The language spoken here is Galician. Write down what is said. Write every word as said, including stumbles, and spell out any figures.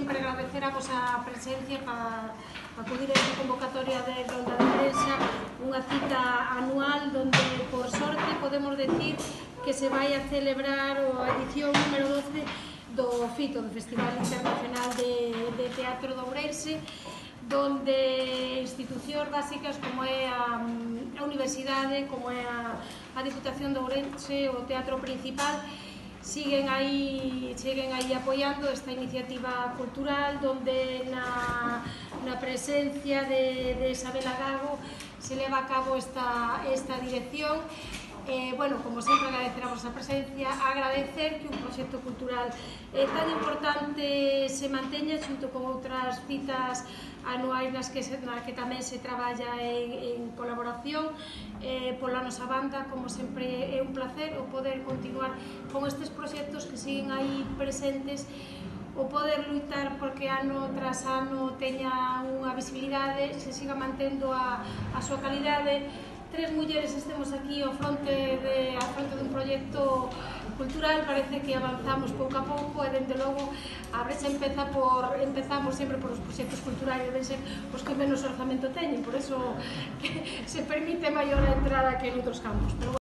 sempre agradecer a vosa presencia para acudir a esta convocatoria de Ronda de Prensa, unha cita anual donde, por sorte, podemos decir que se vai a celebrar a edición número doce do FITO, do Festival Internacional de, de Teatro de Ourense, donde institucións básicas como é a, a Universidade, como é a, a Diputación de Ourense, o Teatro Principal, siguen aí, siguen aí apoiando esta iniciativa cultural donde na, na presencia de, de Isabela Gago se leva a cabo esta, esta dirección. Eh, bueno, como sempre, agradecer a vosa presencia, agradecer que un proxecto cultural eh, tan importante se manteña xunto con outras citas anuais nas que, se, nas que tamén se traballa en, en colaboración. Eh, pola nosa banda, como sempre, é un placer o poder continuar con estes proxectos que siguen aí presentes, o poder luitar porque ano tras ano teña unha visibilidade, se siga mantendo a, a súa calidade. Tres mulleres estemos aquí ao fronte de, ao fronte dun proxecto cultural, parece que avanzamos pouco a pouco e, dende logo, a brecha empeza por, empezamos sempre por os proxectos culturais, deben ser os que menos orzamento teñen, por eso que se permite maior a entrada que en outros campos. Pero,